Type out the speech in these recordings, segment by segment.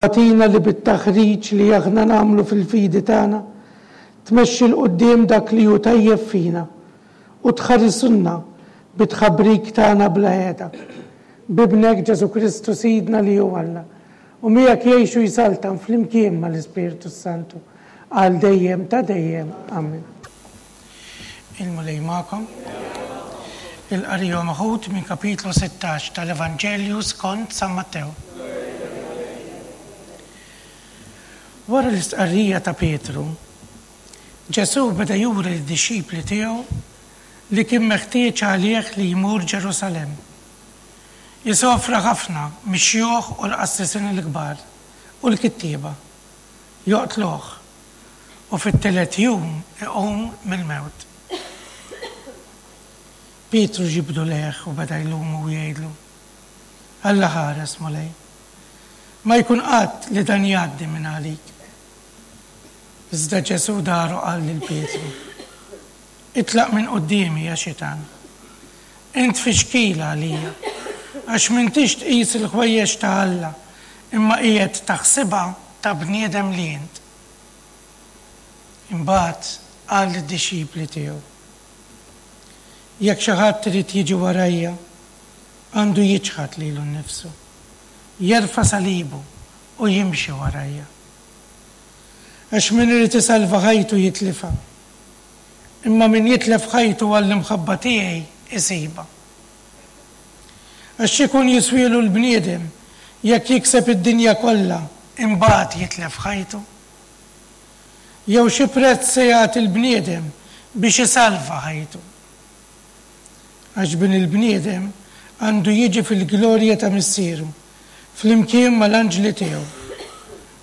Agħtina li bit-taħriġ li aħna nagħmlu fil-fidi tagħna, tmexxi 'l quddiem dak li hu tajjeb fina u tħarisulna bit-tħabrik tagħna bla heda. B'Ibnek Ġesù Kristu Sidna li hu Alla, u miegħek jgħix u jsaltan flimkien mal-Ispirtu s-Santu, għal dejjem ta' dejjem. Amen. Il-Mulej magħkom. Il-qari huwa meħud minn kapitlu 16 tal-Evanġelju skont San Mattew. Wara l-istqarrija ta' Pietru, Ġesù beda juri lid-dixxipli tiegħu li kien meħtieġ għalih li jmur Ġerusalemm. Isofra ħafna mix-xjuħ u l-qassisin il-kbar u l-kittieba. Joqtluh, u fit-tielet jum iqum mill-mewt. Pietru ġibdu lejh u beda jlumu u jgħidlu, Alla ħares, Mulej, ma jkun qatt li dan jgħaddi minn għalik. Iżda Ġesù dar u qal lil Pietru, Itlaq minn quddiemi, ja xitan! Int tfixkil għalija, għax m'intix tqis il-ħwejjeġ ta' Alla, imma qiegħed taħsibha ta' bniedem li int. Imbagħad qal lid-dixxipli tiegħu, Jekk xi ħadd irid jiġi warajja, għandu jiċħad lilu nnifsu, jerfa' salibu u jimxi warajja. Għax min irid isalva ħajtu jitlifha, imma min jitlef ħajtu għall-imħabba tiegħi isibha. Għax x'ikun jiswielu l-bniedem jekk jikseb id-dinja kollha imbagħad jitlef ħajtu? Jew xi prezz se jagħti l-bniedem biex isalva ħajtu? Għax Bin il-bniedem għandu jiġi fil-glorja ta' Missieru flimkien mal-anġli tiegħu.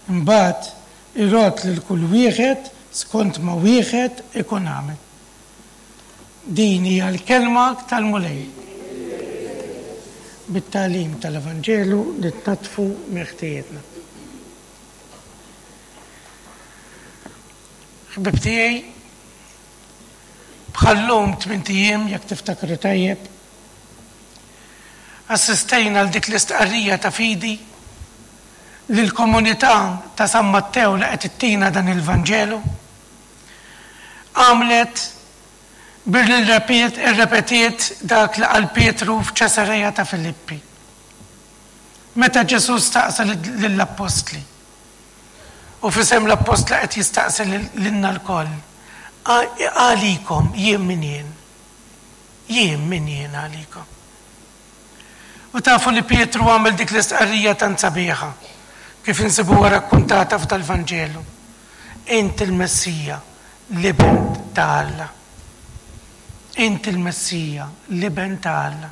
Imbagħad irodd lil kull wieħed skont ma wieħed ikun għamel. Din hija l-kelma tal-Mulej. Bit-tagħlim tal-Evanġelu nitnaddfu minn ħtijietna. Ħbieb tiegħi, bħal-lum tmint ijiem jekk tiftakru tajjeb, assistejna għal dik l-istqarrija ta' fidi li l-komunità ta' San Mattew li qed ittina dan il-Vanġelu għamlet billi rrepetiet dak li qal Pietru f'Ċesareja ta' Filippi. Meta Ġesù staqsa lill-appostli, u f'isem l-appostli qed jistaqsi lilna lkoll, Għalikom jien min jien? Jien min jien għalikom? U tafu li Pietru għamel dik l-istqarrija tant sabiħa, kif insibuha rakkuntata f'dal-Vanġelu, Int il-Messija, l-Iben ta' Alla. Int il-Messija, l-Iben ta' Alla.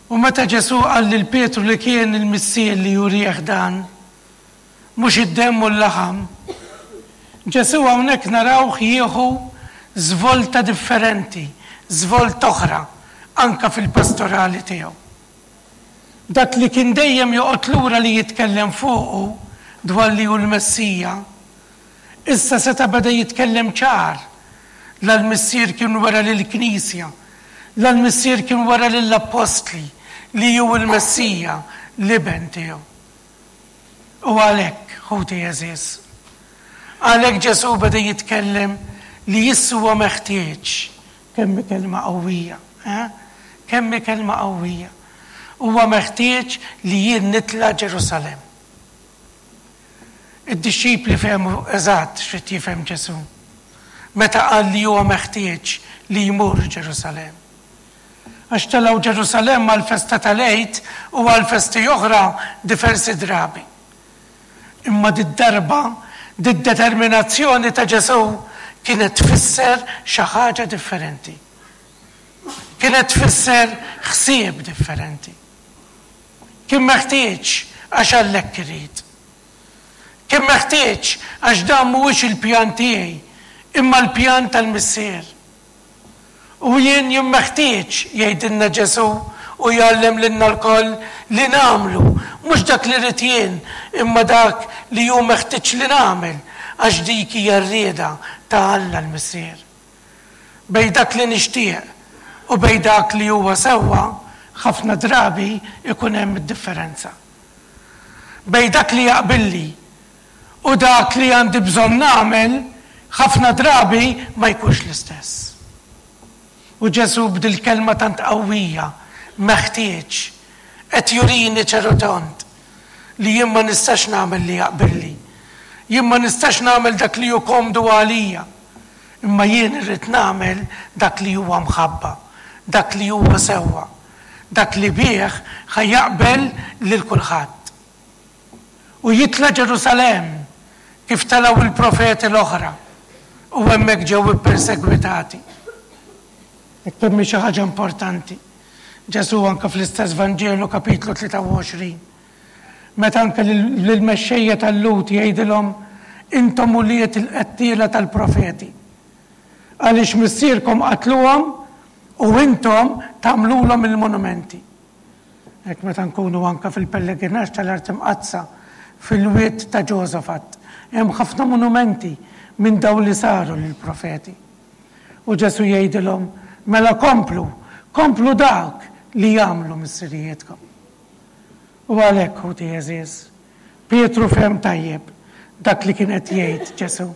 U meta Ġesù qal lil Pietru li kien il-Missier li jurih dan, mhux id-demm u l-laħam, Ġesù hawnhekk narawh jieħu żvolta differenti, żvolta oħra, anke fil-pastorali tiegħu. Dak li kien dejjem joqgħod lura li jitkellem fuqu dwar li hu l-Messija, Issa seta' beda jitkellem ċar. La l-Missier kien wera lill-Knisja, la l-Missier kien wera lill-Appostli li hu l-Messija, l-Iben tiegħu. U għalhekk, ħuti għeżież, għalhekk Ġesù beda jitkellem li issa huwa meħtieġ, kemm hi kelma qawwija, eh? Kemm hi kelma qawwija. Huwa meħtieġ li jien nitla' Ġerusalemm. Id-dixxipli fehmu eżatt x'ried jifhem Ġesù meta qal li huwa meħtieġ li jmur Ġerusalemm. Għax telgħu Ġerusalemm għall-festa tal-Għid u għal festi oħra diversi drabi. Imma did-darba, did-determinazzjoni ta' Ġesù kienet tfisser xi ħaġa differenti. Kienet tfisser ħsieb differenti. Kien meħtieġ għax Alla hekk irid. Kien meħtieġ għax dan mhuwiex il-pjan tiegħi, imma l-pjan tal-Missier. U jien jien meħtieġ, jgħidilna Ġesù u jgħallem lilna lkoll li nagħmlu mhux dak li rrid jien, imma dak li hu meħtieġ li nagħmel għax dik hija r-rieda ta' Alla l-Missier. Bejn dak li nixtieq u bejn dak li huwa sewwa, ħafna drabi jkun hemm id-differenza. bejn dak li jaqbilli u dak li għandi bżonn nagħmel ħafna drabi ma jkunx l-istess. U Ġesù b'dil-kelma tant qawwija, meħtieġ, qed jurini ċerutont li jien ma nistax nagħmel li jaqbilli. Jien ma nistax nagħmel dak li hu komdu għalija. Imma jien irrid nagħmel dak li huwa mħabba, dak li huwa sewwa, dak li bih ħa jaqbel lil kulħadd. U jitla' Ġerusalemm kif telgħu l-profeti l-oħra u hemmhekk ġew ippersegwitati. Hekk hemm xi ħaġa importanti. Ġesù anke fl-istess Vanġelu kapitlu 23, meta anke lill-mexxejja tal-Lhud jgħidilhom intom ulied il-qettiela tal-profeti. Għaliex missierkom qatluhom u intom tagħmlulhom il-monumenti. Hekk meta nkunu anke fil-pellegrinaġġ tal-Art Imqaddsa, fil-Wied ta' Ġosafat, hemm ħafna monumenti minn dawn li saru lill-profeti. U Ġesù jgħidilhom, Mela komplu, komplu dak li għamlu missirijietkom. U għalhekk, ħuti għeżież, Pietru fehem tajjeb dak li kien qed jgħid Ġesù,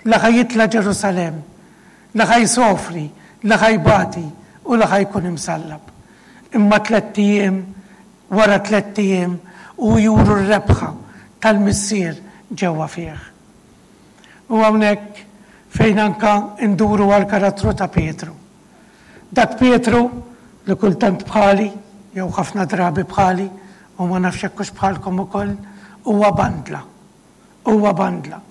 li ħa jitla' Ġerusalemm, li ħa jsofri, li ħa jbati u li ħa jkun imsallab. Imma tlett ijiem, wara tlett ijiem, hu juru r-rebħa tal-Missier ġewwa fih. U hawnhekk fejn anka nduru għall-karattru ta' Pietru. Dak Pietru li kultant bħali, jew ħafna drabi bħali, u ma nafx jekk hux bħalkom ukoll, huwa bandla. Huwa bandla.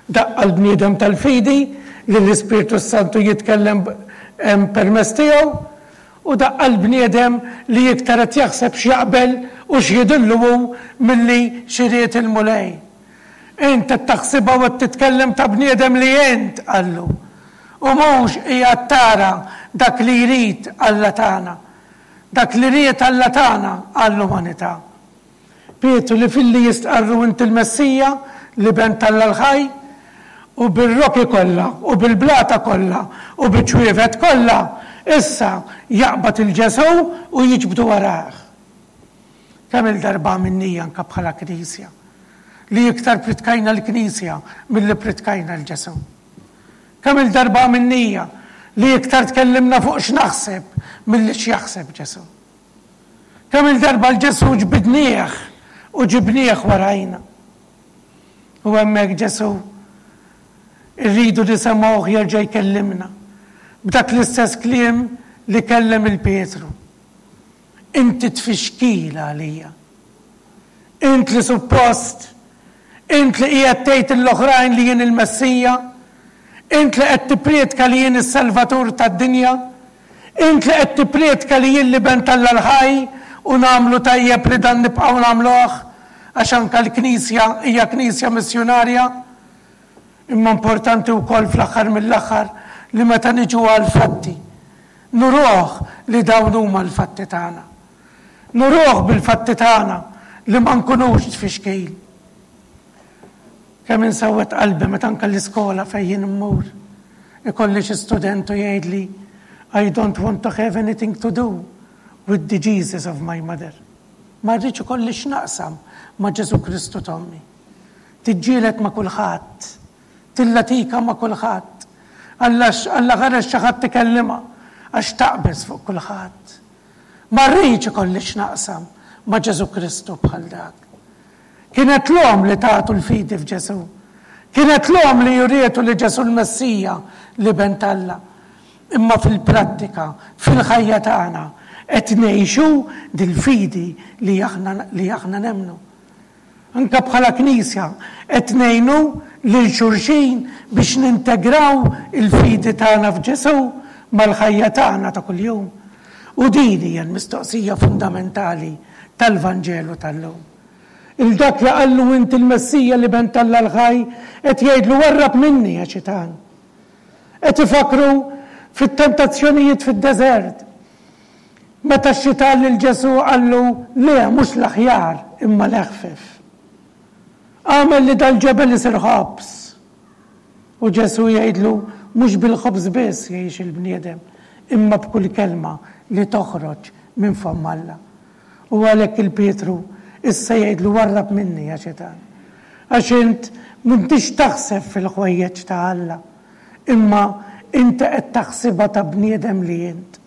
Daqqa l-bniedem tal-fidi li l-Ispirtu s-Santu jitkellem permezz tiegħu, u daqqa l-bniedem li iktar qed jaħseb x'jaqbel u x'jidhirlu hu milli x'irid il-Mulej. Int qed taħsibha u qed titkellem ta' bniedem li int, qallu. U mhux qiegħed tara dak li jrid Alla tagħna. Dak li ried Alla tagħna għall-umanità. Pietru li filli jistqarru int il-Messija, l-Iben t'Alla l-ħaj, u bir-rokki kollha, u bil-blata kollha, u biċ-ċwievet kollha, issa jaqbad 'il Ġesù u jiġbdu warajh. Kemm-il darba għamilnija anke bħala Knisja, li iktar pritkajna l-Knisja milli pritkajna 'l Ġesù. Kemm-il darba għamilnija li iktar tkellimna fuq x'naħseb milli x'jaħseb Ġesù. Kemm-il darba 'l Ġesù ġbidnieh u ġibnieh warajna. U hemmhekk Ġesù irridu nisemgħuh jerġa' jkellimna b'dak l-istess kliem li kellem 'il Pietru. Inti tfixkil għalija. Int li suppost, int li qiegħed tgħid lill-oħrajn li jien il-Messija, int li qed tipprietka li jien is-Salvatur tad-dinja, Int li qed tipprietka li jien l-Iben t'Alla l-ħaj u nagħmlu tajjeb li dan nibqgħu nagħmluh għax anke l-Knisja hija Knisja missjunarja. Imma importanti wkoll fl-aħħar mill-aħħar li meta niġu għall-fatti, nuruh li dawn huma l-fatti tagħna. Nuruh bil-fatti tagħna li ma nkunux tfixkil. Kemm insewwed qalbi meta anke l-iskola fejn jien immur, ikolli xi student u jgħidli, I don't want to have anything to do with the Jesus of my mother. Ma rridx ikolli x'naqsam ma' Ġesù Kristu t'ommi. Tiġġieled ma' kulħadd. Tillatika ma' kulħadd. Alla Alla ħareġ xi ħadd ikellimha għax taqbeż fuq kulħadd. Ma rridx ikolli x'naqsam ma' Ġesù Kristu bħal dak. Kienet l-omm li tatu l-fidi f'Ġesù. Kienet l-omm li urietu li Ġesù l-Messija, l-Iben t'Alla. Imma fil-prattika, fil-ħajja tagħna, qed ngħixu dil-fidi li aħna li aħna nemmnu. Anke bħala Knisja qed ngħinu lil xulxin biex nintegraw il-fidi tagħna f'Ġesù mal-ħajja tagħna ta' kuljum. U din hija l-mistoqsija fundamentali tal-Vanġelu tal-lum. Il dak li qallu int il-Messija l-Iben t'Alla l-ħaj qed jgħidlu warrab minni ja xitan. Qed ifakkru fit-tentazzjonijiet fid-deżert. Meta x-xitan lil Ġesù qallu le mhux l-aħjar imma l-eħfef. Agħmel li dal-ġebel isir ħobż. U Ġesù jgħidlu mhux bil-ħobż biss jgħix il-bniedem imma b'kull kelma li toħroġ minn fomm Alla. U għalhekk il-Pietru. Issa jgħidlu warrab minni ja xitan. Għax int m'intix taħseb fil-ħwejjeġ ta' Alla, imma inti qed taħsibha ta' bniedem li int.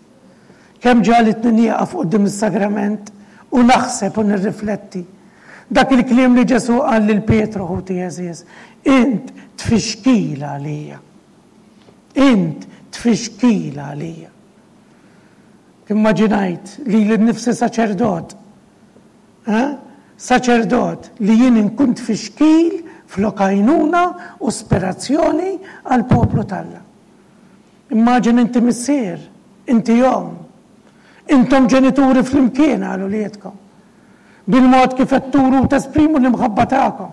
Kemm ġagħlitni nieqaf quddiem is-sagrament u naħseb u nirrifletti. Dak il-kliem li Ġesù qal lil Pietru, ħuti għeżież, int tfixkil għalija. Int tfixkil għalija. Immaġinajt lili nnifsi saċerdot. Eh? Saċerdot li jien inkun tfixkil flok għajnuna u spirazzjoni għall-poplu t'Alla. Immaġina inti missier, inti omm. Intom ġenituri flimkien għal uliedkom. Bil-mod kif qed turu u tesprimu l-imħabba tagħkom.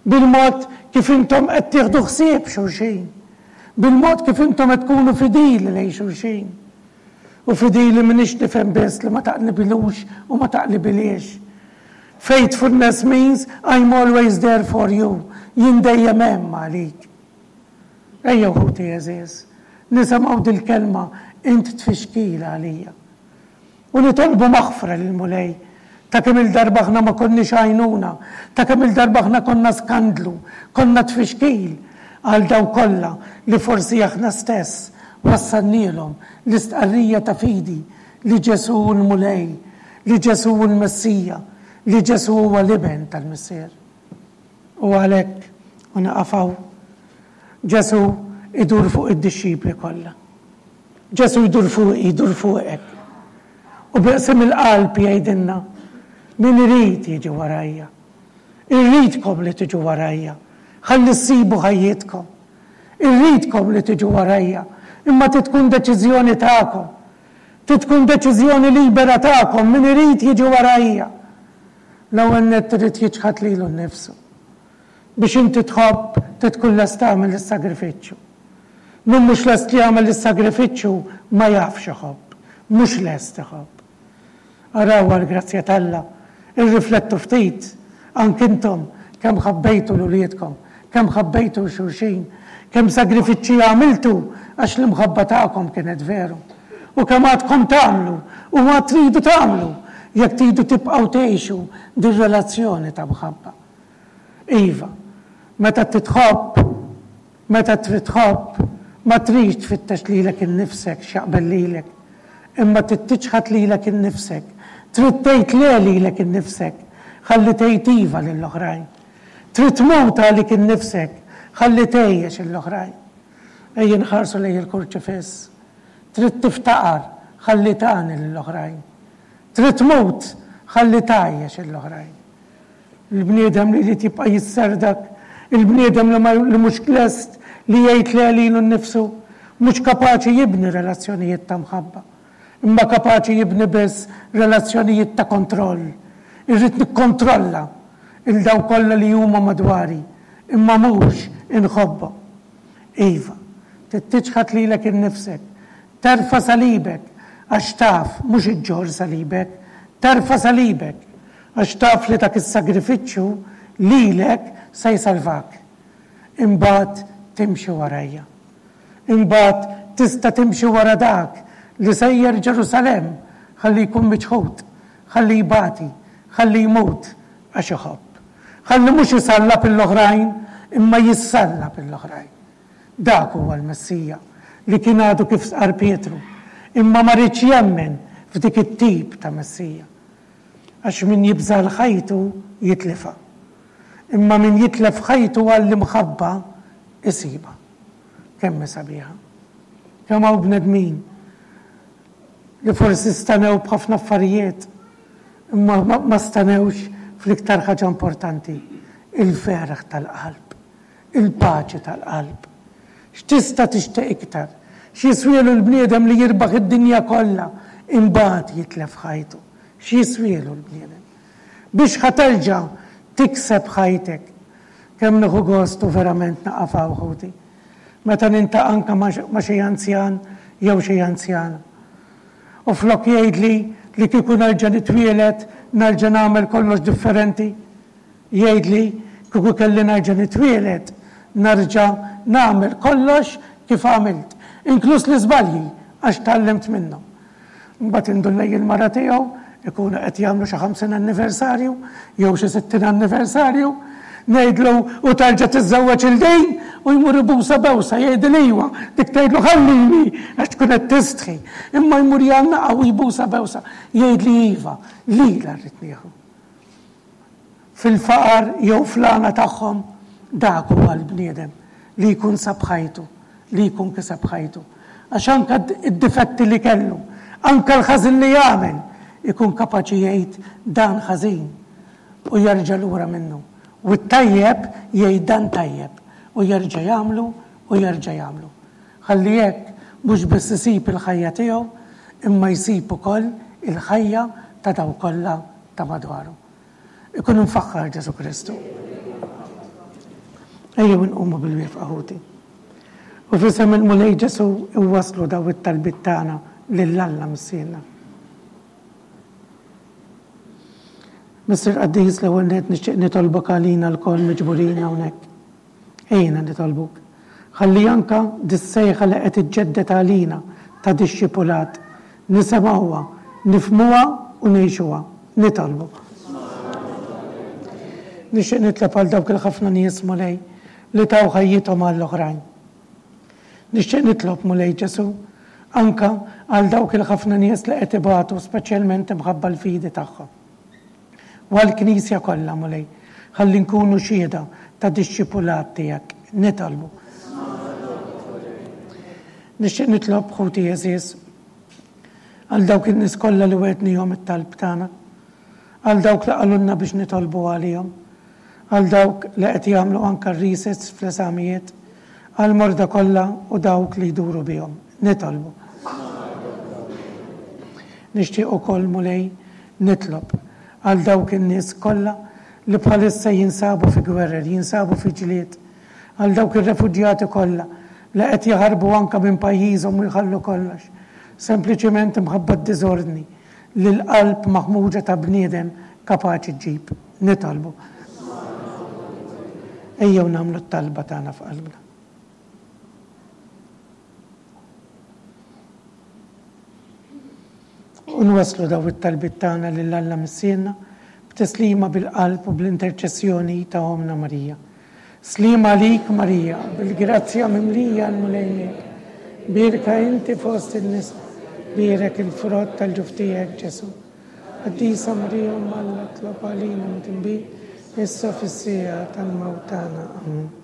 Bil-mod kif intom qed tieħdu ħsieb xulxin. Bil-mod kif intom qed tkunu fidili lejn xulxin. U fidili m'iniex nifhem biss li ma taqlibilux u ma taqlibilhiex. Faithfulness means I'm always there for you, jien dejjem hemm għalik. Ejjew ħuti għeżież, nisimgħu dil-kelma int tfixkil għalija. U nitolbu maħfra lill-Mulej ta' kemm-il darba aħna ma konniex għajnuna, ta' kemm-il darba aħna konna skandlu, konna tfixkil għal dawk kollha li forsi aħna stess wassalnielhom l-istqarrija ta' fidi li Ġesù hu l-Mulej, li Ġesù hu l-Messija, li Ġesù huwa l-Iben tal-Missier. U għalhekk, u nieqaf hawn, Ġesù idur fuq id-dixxipli kollha. Ġesù jdur fuqi, jdur fuqek. U bi qsim il-qalb jgħidilna, Min irid jiġi warajja. Irridkom li tiġu warajja, ħalli ssibu ħajjitkom. Irridkom li tiġu warajja, imma trid tkun deċiżjoni tagħkom. Trid tkun deċiżjoni libera tagħkom, min irid jiġi warajja. L-ewwel nett irid jiċħad lilu nnifsu. Biex inti tħobb, trid tkun lest tagħmel is-sagrifiċċju. Min mhux lest li jagħmel is-sagrifiċċju ma jafx iħobb, mhux lest iħobb. Araw għall-grazzja t'Alla, irriflettu ftit, anki intom, kemm ħabbejtu 'l uliedkom, kemm ħabbejtu 'l xulxin, kemm sagrifiċċji għamiltu għax l-imħabba tagħkom kienet veru. U kemm għadkom tagħmlu u għad tridu tagħmlu jekk tridu tibqgħu tgħixu dir-relazzjoni ta' mħabba. Iva, meta titħobb, Meta trid tħobb, ma tridx tfittex lilek innifsek x'jaqbel lilek, imma trid tiċħad lilek innifsek, trid tgħid le lilek innifsek ħalli tgħid iva lill-oħrajn. Trid tmut għalik innifsek ħalli tgħejjex lill-oħrajn. Ejja nħarsu lejn il-Kurċifiss. Trid tiftaqar ħalli tagħni lill-oħrajn. Trid tmut ħalli tgħajjex lill-oħrajn. Il-bniedem li jrid jibqa' jisserdak, il-bniedem li ma li mhux lest li jgħid le lilu nnifsu, mhux kapaċi jibni relazzjonijiet ta' mħabba, imma kapaċi jibni biss relazzjonijiet ta' kontroll. Irrid nikkontrolla 'l dawk kollha li huma madwari, imma mhux inħobbhom. Iva, trid tiċħad lilek innifsek, terfa' salibek, għax taf, mhux iġġorr salibek, terfa' salibek, Għax taf li dak is-sagrifiċċju lilek se jsalvak. Imbagħad timxi warajja. Imbagħad tista' timxi wara dak li sejjer Ġerusalemm ħalli jkun miċħud, ħalli jbati, ħalli jmut għax iħobb. Ħalli mhux isallab lill-oħrajn imma jissallab lill-oħrajn. Dak huwa l-Messija li kien għadu kif stqarr Pietru, imma ma riedx jemmen f'dik it-tip ta' Messija. Għax min jibża' għal ħajtu jitlifha. Imma min jitlef ħajtu għall-imħabba isibha. Kemm hi sabiħa. Kemm hawn bnedmin li forsi stanew b'ħafna affarijiet imma ma stanewx fl-iktar ħaġa importanti, il-ferħ tal-qalb. Il-paċi tal-qalb. X'tista' tixtieq iktar? X'jiswielu l-bniedem li jirbaħ id-dinja kollha imbagħad jitlef ħajtu? X'jiswielu l-bniedem? Biex ħa terġa' tikseb ħajtek? Kemm nieħu gost u verament naqaf hawn ħuti. Meta nintaqa' anke ma' xi anzjan jew xi anzjana. U flok jgħidli li kieku nerġa' nitwieled nerġa' nagħmel kollox differenti, Jgħidli, kieku kelli nerġa' nitwieled, nerġa' nagħmel kollox kif għamilt, inkluż l-iżbalji, għax tgħallimt minnhom. Imbagħad indur lejn il-mara tiegħu, Ikunu qed jagħmlu xi 50 anniversarju jew xi 60 anniversarju, ngħidlu u terġa' tiżżewweġ 'il din u jmur ibusha bewsa jgħidil iwa, dik tgħidlu ħallini għax tkun qed tistħi. Imma jmur jgħannaqha u jbusha bewsa jgħidli iva, lilha rrid nieħu. Fil-faqar jew fl-għana tagħhom, dak huwa l-bniedem li jkun sab ħajtu, li jkun kiseb ħajtu. Għax anke d-difetti li kellu, anke l-ħażin li għamel, ikun kapaċi jgħid dan ħażin u jerġa' lura minnu. U t-tajjeb jgħid dan tajjeb u jerġa' jagħmlu u jerġa' jagħmlu. Ħalli hekk mhux biss isib il-ħajja tiegħu imma jsib ukoll il-ħajja ta' dawk kollha ta' madwaru. Ikun imfaħħar Ġesù Kristu. Ejjew inqumu bil-wieqfa ħuti. U f'isem il-Mulej Ġesù iwasslu daw it-talbiet tagħna lil Alla Missierna. Missier Qaddis, l-ewwel nett nixtieq nitolbok għalina lkoll miġburin hawnhekk. Għinna nitolbuk. Ħalli anka dis-sejħa li qed iġġedded għalina ta' dixxipulat, nisemgħuha, nifhmuha u ngħixuha. Nitolbu. Nixtieq nitlob għal dawk il-ħafna nies, Mulej, li taw ħajjithom għall-oħrajn. Nixtieq nitlob, Mulej Ġesù, anka għal dawk il-ħafna nies li qed ibatu speċjalment imħabba l-fidi tagħhom. U għall-Knisja kollha, Mulej, ħalli nkunu xhieda ta' dixxipulat tiegħek. Nitolbu. Nixtieq nitlob, ħuti għeżież, għal dawk in-nies kollha li wegħdnihom it-talb tagħna, għal dawk li qalulna biex nitolbu għalihom, għal dawk li qed jagħmlu anke r-resets fl-eżamijiet, għall-morda kollha u dawk li jduru bihom. Nitolbu. Nixtieq ukoll, Mulej, Nitlob għal dawk in-nies kollha li bħalissa jinsabu fi gwerer, jinsabu fi ġlied, għal dawk ir-refuġjati kollha li qed jaħarbu anke minn pajjiżhom u jħallu kollox, sempliċiment imħabba d-diżordni li l-qalb maħmuġa ta' bniedem kapaċi ġġib. Nitolbu. Ejjew nagħmlu t-talba tagħna f'qalbna. U nwasslu dawn it-talbiet tagħna lil Alla Missierna b'tislima bil-qalb u bl-interċessjoni ta' Ommna Marija. Sliem għalik Marija, bil-grazzja mimlija l-Mulej miegħek. Bierka inti fost in-nisa, bierek il-frott tal-ġuf tiegħek Ġesù. Qaddisa Marija Omm Alla tlob għalina midinbin, issa fis-siegħa tal-mewt tagħna. Amen.